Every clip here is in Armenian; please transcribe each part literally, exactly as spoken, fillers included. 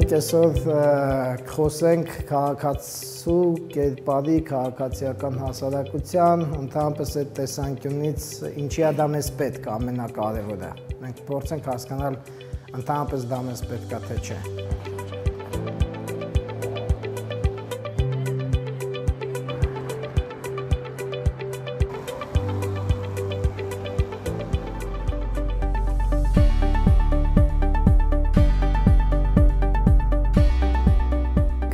Մենք այսօր կխոսենք քաղաքացու կերպարի, քաղաքացիական հասարակության, ընդհանրապես այդ տեսանկյունից ինչի է դա մեզ պետք է ամենակարևորը։ Մենք փորձենք հասկանալ ընդհանրապես դա մեզ պետք է թե չէ։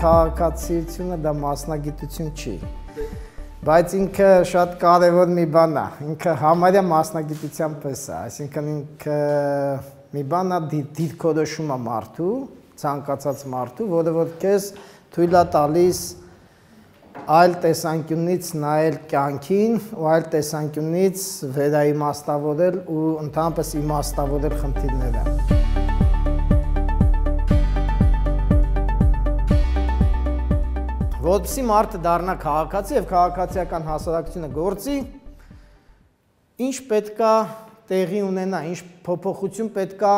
Քաղաքացիությունը դա մասնագիտություն չի, բայց ինքը շատ կարևոր մի բան է, ինքը համարյա մասնագիտության պես է, այսինքն ինքը մի բան է դիրքորոշում է մարդու, ցանկացած մարդու, որը որ քեզ թույլ է տալիս այլ տեսանկյունից նայել կյանքին ու այլ տեսանկյունից վերաիմաստավորել ու ընդհանրապես իմաստավորել խնդիրները։ Որպեսզի մարդը դառնա քաղաքացի եւ քաղաքացիական հասարակությունը գործի, ինչ պետքա տեղի ունենա, ինչ փոփոխություն պետքա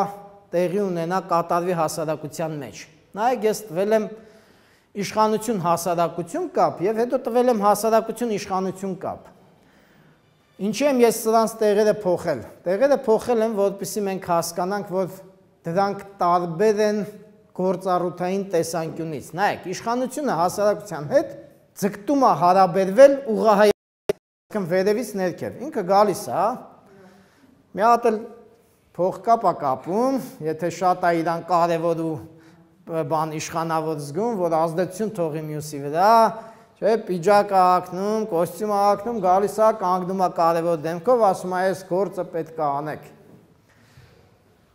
տեղի ունենա կատարվի հասարակության մեջ։ Նայեք, ես տվել եմ իշխանություն հասարակություն կապ եւ հետո տվել եմ հասարակություն իշխանություն կապ։ Ինչի եմ ես սրանց տեղերը փոխել։ Տեղերը փոխել եմ, որպեսզի մենք հասկանանք, որ դրանք տարբեր են գործառութային տեսանկյունից։ Նայեք, իշխանությունը հասարակության հետ ձգտում է հարաբերվել ուղղահայացքն վերևից ներքև։ Ինքը գալիս է, մի հատ էլ փողկապ է կապում, եթե շատ է իրան կարևոր ու բան իշխանավոր զգում, որ ազդեցություն թողի մյուսի վրա, չէ, պիջակ է հագնում, կոստյում է հագնում, գալիս է, կանգնում է կարևոր դեմքով, ասում է, այս գործը պետք է անեք։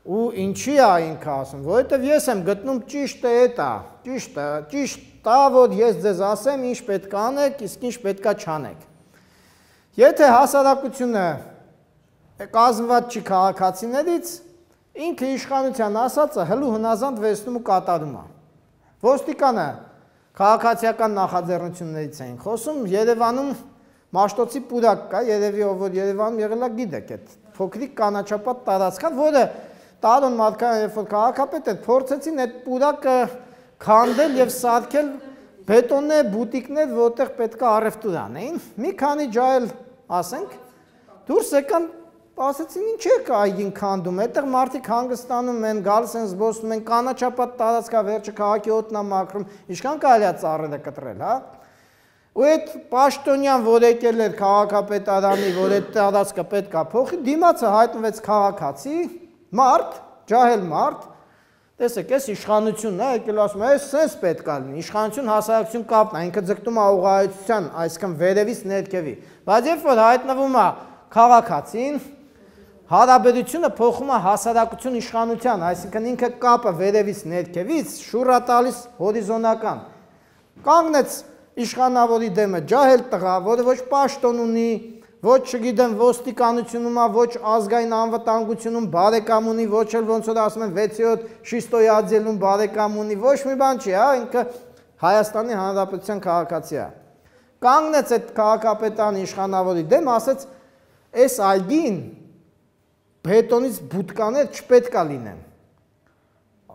Ու ինչի է ինքը ասում, որովհետև ես եմ գտնում ճիշտը էդ է, ճիշտը, ճիշտ է, որ ես ձեզ ասեմ ինչ պետք է անեք, իսկ ինչ պետք է չանեք։ Եթե հասարակությունը կազմված չի քաղաքացիներից, ինքը իշխանության ասածը հլու հնազանդ վերցնում ու կատարում է։ Ոստիկանը քաղաքացիական նախաձեռնություններից էին խոսում, Երևանում Մաշտոցի պուրակ կա, երևի ով որ Երևանում եղել է գիտեք, այդ փոքրիկ կանաչապատ տարածքա, որը Տարոն Մատքարյան, երբ որ քաղաքապետ էր, փորձեցին այդ պուրակը քանդել եւ սարքել բետոնե բուտիկներ, որտեղ պետք է առևտուր անեին։ Մի քանի ջահել, ասենք, դուրս եկան, ասեցին, ինչ եք այգին քանդում, այդտեղ մարդիկ հանգստանում են, գալիս են զբոսնում են, կանաչապատ տարածքա, վերջը քաղաքի օդն է մաքրում, ինչքան կարելի է ծառերը կտրել, հա։ Ու այդ պաշտոնյան, որ եկել էր քաղաքապետարանի, որ այդ տարածքը պետք է փոխի, դիմացը հայտնվեց քաղաքացի, մարդ, ջահել մարդ, տեսեք, այս իշխանությունն է, եկել ասում է, այս սենց պետք է լինի, իշխանություն հասարակություն կապն է, ինքը ձգտում է ուղղահայացության, այսինքն վերևից ներքևի, բայց երբ որ հայտնվում է քաղաքացին, հարաբերությունը փոխում է հասարակություն իշխանության, այսինքն ինքը կապը վերևից ներքևից շուռ է տալիս հորիզոնական։ Կանգնեց իշխանավորի դեմը ջահել տղա, որը ոչ պաշտոն ունի, ոչ չգիտեմ ոստիկանությունում է, ոչ ազգային անվտանգությունում բարեկամ ունի, ոչ էլ ոնց որ ասում են վեցերորդ շիստոյի աջելում բարեկամ ունի, ոչ մի բան չի, հա, ինքը Հայաստանի Հանրապետության քաղաքացի է։ Կանգնեց այդ քաղաքապետարանի իշխանավորի դեմ, ասեց, այս այգին բետոնից բուտկաներ չպետք է լինեն։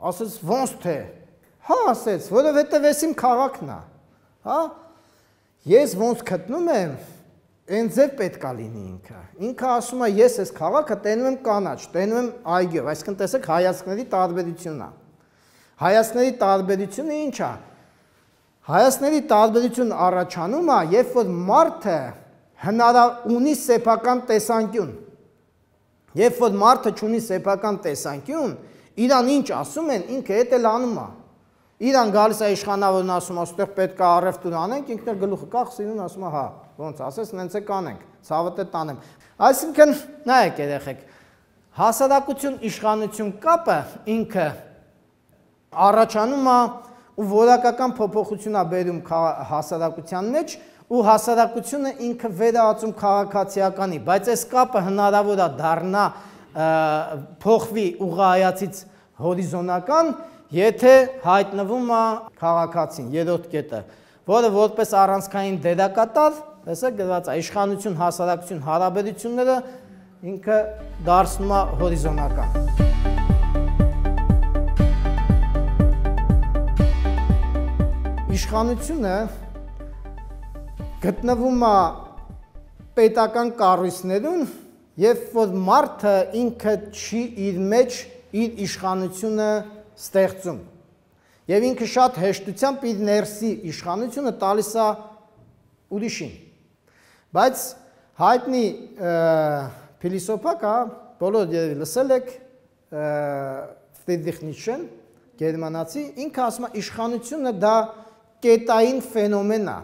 Ասեց, ոնց թե։ Հա, ասեց, որովհետև այս իմ քաղաքն է, հա։ Ես ոնց գտնում եմ, Այն ձև պետք է լինի ինքը։ Ինքը ասում է, ես այս քաղաքը տենում եմ կանաչ, տենում եմ այգով, այսինքն տեսեք հայացքների տարբերությունն է։ Հայացքների տարբերությունը ինչ է։ Հայացքների տարբերությունը առաջանում է, երբ որ մարդը հնարավոր ունի սեփական տեսանկյուն։ Երբ որ մարդը ունի սեփական տեսանկյուն, իրան ինչ ասում են, ինքը էդ էլ անում է։ Իրան գալիս է իշխանավորն ասում, այստեղ պետք է առևտուր անենք, ինքն էլ գլուխը կախ սիրուն ասում է, հա, ոնց ասես, նենց է կանենք, ցավը տանեմ։ Այսինքն, նայեք երեխեք, հասարակություն իշխանություն կապը ինքը առաջանում է ու որակական փոփոխություն է բերում հասարակության մեջ ու հասարակությունը ինքը վերածում քաղաքացիականի, բայց այս կապը հնարավոր է դառնա փոխվի ուղղահայացից հորիզոնական, եթե հայտնվում է քաղաքացին, երրորդ կետը, որը որպես առանցքային դերակատար, տեսեք գրված է, իշխանություն, հասարակություն հարաբերությունները ինքը դարձնում է հորիզոնական։ իշխանությունը գտնվում է պետական կառույցներում, երբ որ մարդը ինքը չի իր մեջ իր իշխանությունը ստեղծում։ Եվ ինքը շատ հեշտությամբ իր ներսի իշխանությունը տալիս է ուրիշին։ Բայց հայտնի փիլիսոփա կա, բոլոր երևի լսել եք, Ֆրիդրիխ Նիցշեն, գերմանացի, ինքը ասում է իշխանությունը դա կետային ֆենոմեն է։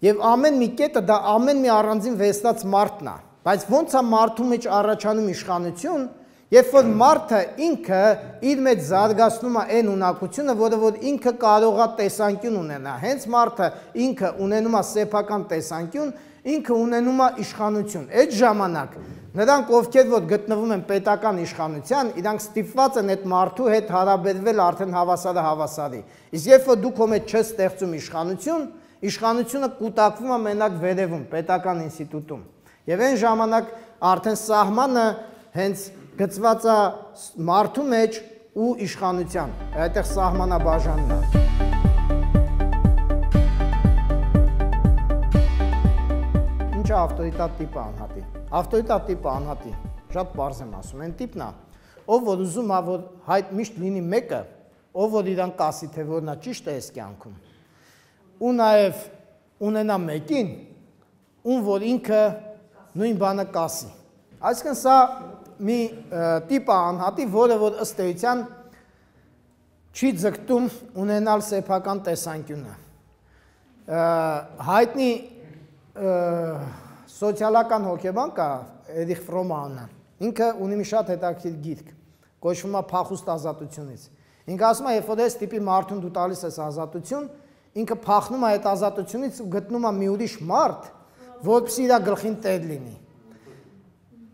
Եվ ամեն մի կետը դա ամեն մի առանձին վեստած մարդն է։ Բայց ոնց է մարդու մեջ առաջանում իշխանություն, երբ որ մարդը ինքը իր մեջ զարգացնում է այն ունակությունը, որը որ ինքը կարող է տեսանկյուն ունենա։ Հենց մարդը ինքը ունենում է սեփական տեսանկյուն, ինքը ունենում է իշխանություն։ Այդ ժամանակ նրանք, ովքեր որ գտնվում են պետական իշխանության, իրանք ստիպված են այդ մարդու հետ հարաբերվել արդեն հավասարը հավասարի։ Իսկ երբ որ դու քո մեջ չես ստեղծում իշխանություն, իշխանությունը կուտակվում է մենակ վերևում, պետական ինստիտուտում։ Եվ այն ժամանակ արդեն սահմանը հենց գծված է մարդու մեջ ու իշխանության։ Այդտեղ սահմանաբաժանն է։ Ինչ է ավտորիտար տիպը անհատի։ Ավտորիտար տիպը անհատի, շատ պարզ եմ ասում, այն տիպն է, ով որ ուզում է, որ հայտ միշտ լինի մեկը, ով որ իրան կասի, թե որ նա ճիշտ է այս կյանքում, ու նաև ունենա մեկին, ում որ ինքը նույն բանը կասի։ Այսինքն սա մի տիպ է անհատի, որը որ ըստ էության չի ձգտում ունենալ սեփական տեսանկյունը։ Հայտնի սոցիալական հոգեբան կա Էրիխ Ֆրոմանը, ինքը ունի մի շատ հետաքրքիր գիրք, կոչվում է Փախուստ ազատությունից։ Ինքը ասում է, երբ որ այս տիպի մարդուն դու տալիս ես ազատություն, ինքը փախնում է այդ ազատությունից ու գտնում է մի ուրիշ մարդ, որպեսզի իր գլխին տեր լինի։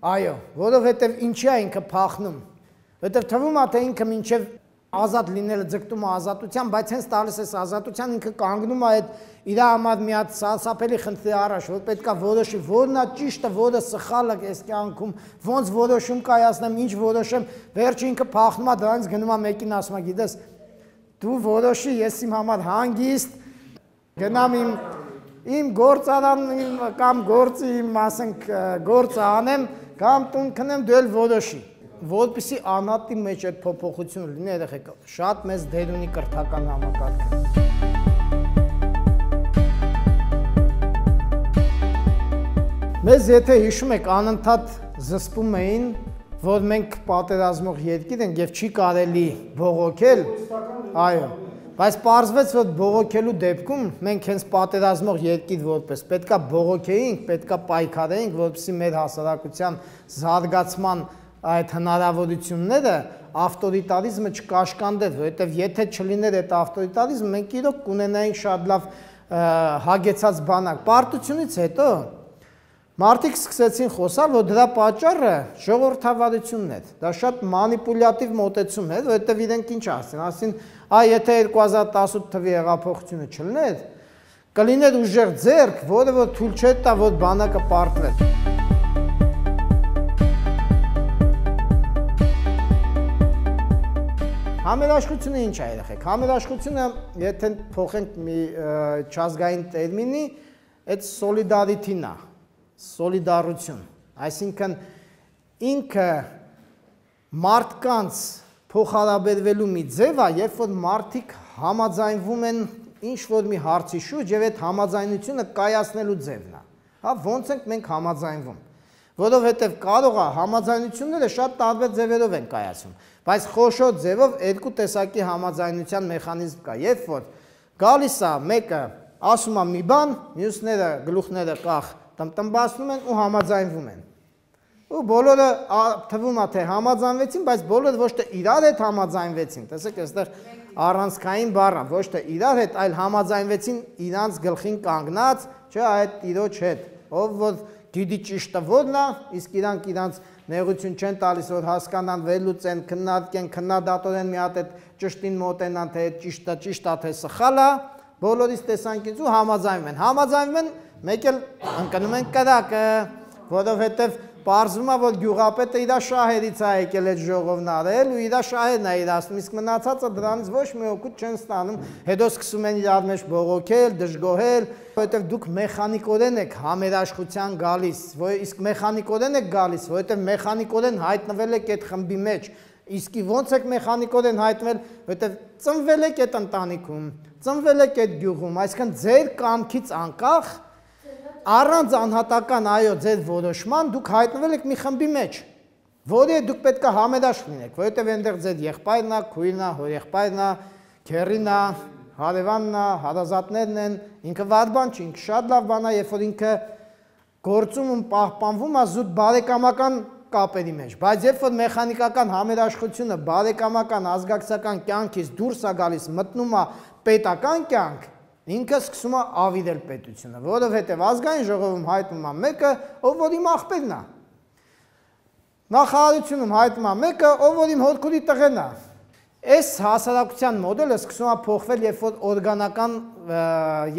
Այո, որովհետև ինչի է ինքը փախնում, որովհետև թվում է, թե ինքը մինչև ազատ լինելը ձգտում է ազատության, բայց հենց տալիս ես ազատության, ինքը կանգնում է այդ իր համար մի հատ սարսափելի խնդրի առաջ, որ պետք է որոշի, որն է ճիշտը, որը սխալը այս կյանքում, ոնց որոշում կայացնեմ, ինչ որոշեմ, վերջը ինքը փախնում է դրանից գնում է մեկին ասում է, գիտես, դու որոշի, ես իմ համար հանգիստ գնամ իմ իմ գործարանին կամ գործի իմ ասենք գործը անեմ, կամ տուն քնեմ, դու էլ որոշի։ Որպեսզի անհատի մեջ այդ փոփոխությունը լինի, երեխեք, շատ մեծ դեր ունի կրթական համակարգը։ Մեզ եթե հիշում եք, անընդհատ զսպում էին, որ մենք պատերազմող երկիր ենք եւ չի կարելի բողոքել, այո, բայց պարզվեց, որ բողոքելու դեպքում մենք հենց պատերազմող երկիր որպես պետքա բողոքեինք, պետքա պայքարեինք, որպեսզի մեր հասարակության զարգացման այդ հնարավորությունները ավտորիտարիզմը չկաշկանդեր, որովհետև եթե չլիներ այդ ավտորիտարիզմը, մենք իրոք կունենայինք շատ լավ հագեցած բանակ։ Պարտությունից հետո մարդիկ սկսեցին խոսալ, որ դրա պատճառը ժողովրդավարությունն էր։ Դա շատ մանիպուլյատիվ մոտեցում էր, որովհետև իրենք ինչ ասին, ասին, այ եթե երկու հազար տասութ թվականի հեղափոխությունը չլիներ, կլիներ ուժեղ ձեռք, որը որ թույլ չէր տա, որ բանակը պարտվեր։ Համերաշխությունը ինչ է երեխեք, համերաշխությունը, եթե փոխենք մի չազգային տերմինի, այդ սոլիդարիթին է, սոլիդարություն, այսինքն ինքը մարդկանց փոխհարաբերվելու մի ձև է, երբ որ մարդիկ համաձայնվում են ինչ-որ մի հարցի շուրջ եւ այդ համաձայնությունը կայացնելու ձևն է, հա, ոնց ենք մենք համաձայնվում, որովհետեւ կարող է համաձայնությունները շատ տարբեր ձևերով են կայացվում, բայց խոշոր ձևով երկու տեսակի համաձայնության մեխանիզմ կա, երբ որ գալիս է մեկը ասում է մի բան, մյուսները գլուխները կախ տնտմբացնում են ու համաձայնվում են։ Ու բոլորը թվում է թե համաձայնվեցին, բայց բոլորը ոչ թե իրար հետ համաձայնվեցին, տեսեք այստեղ առանցքային բառ է, ոչ թե իրար հետ, այլ համաձայնվեցին իրանց գլխին կանգնած, չէ, այդ տիրոջ հետ, ով որ գիտի ճիշտը որն է, իսկ իրանք իրանց նեղություն չեն տալիս, որ հասկանան, վերլուծեն, քննարկեն, քննադատորեն մի հատ այդ ճշտին մոտենան, թե ճիշտը ճիշտ է, թե սխալ է, բոլորից տեսանկյունից ու համաձայնվում են։ Համաձայնվում են, մեկ էլ ընկնում են կրակը, որովհետև Պարզվում է, որ գյուղապետը իր շահերից է եկել այդ ժողովն արել ու իր շահերն է իրացնում, իսկ մնացածը դրանից ոչ մի օգուտ չեն ստանում, հետո սկսում են իրար մեջ բողոքել, դժգոհել, որովհետև դուք մեխանիկորեն եք համերաշխության գալիս, իսկ մեխանիկորեն եք գալիս, որովհետև մեխանիկորեն հայտնվել եք այդ խմբի մեջ, իսկ ոնց եք մեխանիկորեն հայտնվել, որովհետև ծնվել եք այդ ընտանիքում, ծնվել եք այդ գյուղում, այսինքն ձեր կամքից անկախ առանց անհատական այո ձեր որոշման դուք հայտնվել եք մի խմբի մեջ, որի դուք պետք է համերաշխ լինեք, որովհետև այնտեղ ձեր եղբայրն է, քույրն է, հորեղբայրն է, քեռին է, հարևանն է, հարազատներն են, ինքը վատ բան չի, ինքը շատ լավ բան է, երբ որ ինքը գործում ու պահպանվում է զուտ բարեկամական կապերի մեջ, բայց երբ որ մեխանիկական համերաշխությունը բարեկամական ազգակցական կյանքից դուրս է գալիս, մտնում է պետական կյանք, ինքը սկսում է ավիրել պետությունը, որովհետև ազգային ժողովում հայտնում է մեկը, ով որ իմ աղբերն է, նախարարությունում հայտնում է մեկը, ով որ իմ հորքուրի տղեն է։ Այս հասարակության մոդելը սկսում է փոխվել, երբ որ օրգանական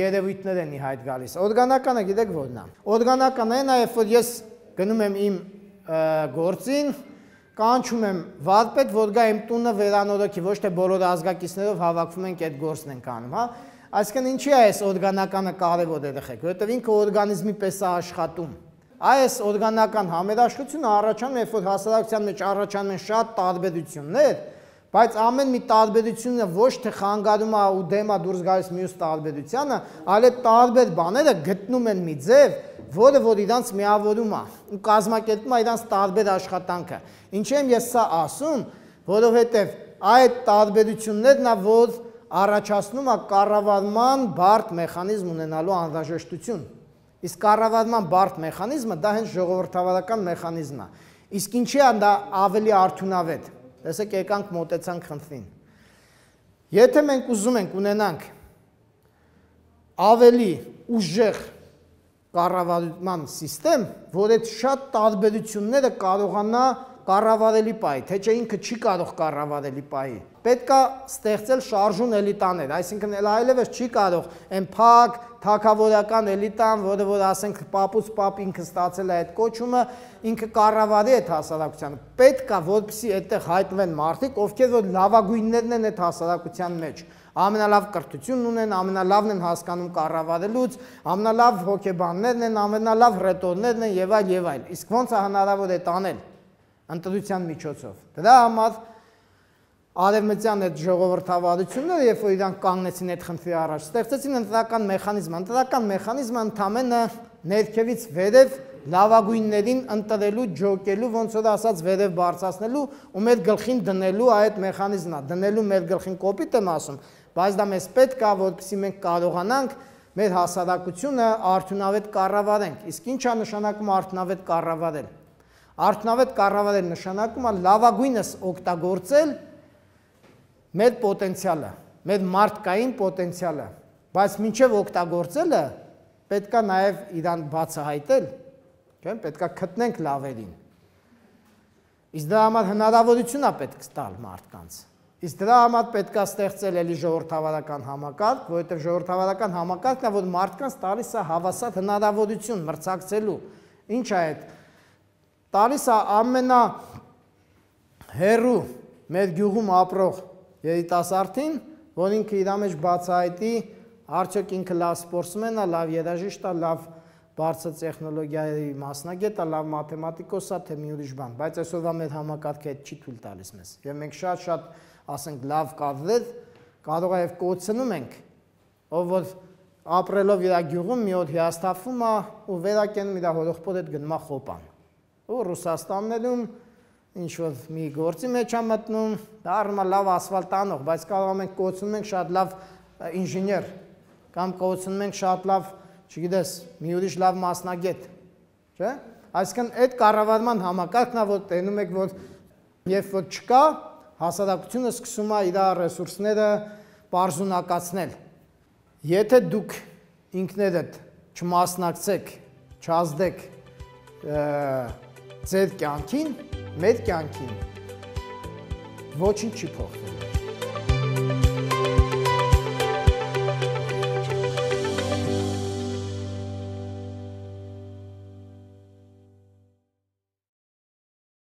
երևույթներ են ի հայտ գալիս։ Օրգանականը գիտեք որն է։ Օրգանականը այն է, երբ որ ես գնում եմ իմ գործին, կանչում եմ վարպետ, որ գա իմ տունը վերանորոգի, ոչ թե բոլոր ազգակիցներով հավաքվում ենք այդ գործն ենք անում, հա։ Այսինքն ինչի է այս օրգանականը կարևոր երեխեք, որովհետև ինքը օրգանիզմի պես է աշխատում։ Այս օրգանական համերաշխությունը առաջանում է, երբ որ հասարակության մեջ առաջանում են շատ տարբերություններ, բայց ամեն մի տարբերությունը ոչ թե խանգարում է ու դեմ է դուրս գալիս մյուս տարբերությանը, այլ այդ տարբեր բաները գտնում են մի ձև, որը որ իրանց միավորում է ու կազմակերպում է իրանց տարբեր աշխատանքը։ Ինչի եմ ես սա ասում, որովհետև այդ տարբերություններն է, որ առաջացնում է կառավարման բարդ մեխանիզմ ունենալու անհրաժեշտություն։ Իսկ կառավարման բարդ մեխանիզմը դա հենց ժողովրդավարական մեխանիզմն է։ Իսկ ինչի է դա ավելի արդյունավետ։ Տեսեք, եկանք մոտեցանք խնդրին։ Եթե մենք ուզում ենք ունենանք ավելի ուժեղ կառավարման համակարգ, որ այդ շատ տարբերությունները կարողանա կառավարելի պահի, թե չէ ինքը չի կարող կառավարելի պահի։ Պետք է ստեղծել շարժուն էլիտաներ, այսինքն այլևս չի կարող այն փակ թագավորական էլիտան, որը որ ասենք պապուց պապ ինքը ստացել է այդ կոչումը, ինքը կառավարի այդ հասարակությանը։ Պետք է, որպեսզի այդտեղ հայտնվեն մարդիկ, ովքեր որ լավագույններն են այդ հասարակության մեջ, ամենալավ կրթությունն ունեն, ամենալավն են հասկանում կառավարելուց, ամենալավ հոգեբաններն են, ամենալավ ռետորներն են եւ այլ եւ այլ։ Իսկ ոնց է հնարավոր է տանել ընտրության միջոցով։ Դրա համար արևմտյան այդ ժողովրդավարությունները, երբ որ իրանք կանգնեցին այդ խնդրի առաջ, ստեղծեցին ընտրական մեխանիզմ։ Ընտրական մեխանիզմը ընդամենը ներքևից վերև լավագույններին ընտրելու, ջոկելու, ոնց որ ասած վերև բարձրացնելու ու մեր գլխին դնելու այդ մեխանիզմն է, դնելու մեր գլխին կոպիտ եմ ասում, բայց դա մեզ պետք է, որպեսզի մենք կարողանանք մեր հասարակությունը արդյունավետ կառավարենք։ Իսկ ինչ է նշանակում արդյունավետ կառավարել։ Արդյունավետ կառավարել նշանակում է լավագույնս օգտագործել մեր պոտենցիալը, մեր մարդկային պոտենցիալը, բայց մինչև օգտագործելը պետք է նաև իրան բացահայտել, պետք է գտնենք լավերին։ Իսկ դրա համար հնարավորություն է պետք տալ մարդկանց։ Իսկ դրա համար պետք է ստեղծել էլի ժողովրդավարական համակարգ, որովհետև ժողովրդավարական համակարգն է, որ մարդկանց տալիս է հավասար հնարավորություն մրցակցելու։ Ինչ է այդ։ Տալիս է ամենա հեռու մեր գյուղում ապրող երիտասարդին, որ ինքը իր մեջ բացահայտի, արդյոք ինքը լավ սպորտսմեն է, լավ երաժիշտ է, լավ բարձր տեխնոլոգիայի մասնագետ է, լավ մաթեմատիկոս է, թե մի ուրիշ բան, բայց այսօրվա մեր համակարգը այդ չի թույլ տալիս մեզ։ Եվ մենք շատ-շատ, ասենք, լավ կադրեր կարող է եւ կոչնում ենք, ով որ ապրելով իր գյուղում մի օր հիասթափվում է ու վերակենում իր հորեղբոր հետ գնում է խոպան։ Ու Ռուսաստաններում ինչ որ մի գործի մեջ է մտնում, դա առնա լավ ասֆալտ անող, բայց կարող ենք կոչնում ենք շատ լավ ինժեներ, կամ կոչնում ենք շատ լավ, չգիտես, մի ուրիշ լավ մասնագետ, չէ՞։ Այսինքն այդ կառավարման համակարգն է, որ տենում եք, որ երբ որ չկա, հասարակությունը սկսում է իր ռեսուրսները պարզունակացնել։ Եթե դուք ինքներդ չմասնակցեք, չազդեք ձեր կյանքին, մեր կյանքին, ոչինչ չի փոխվել։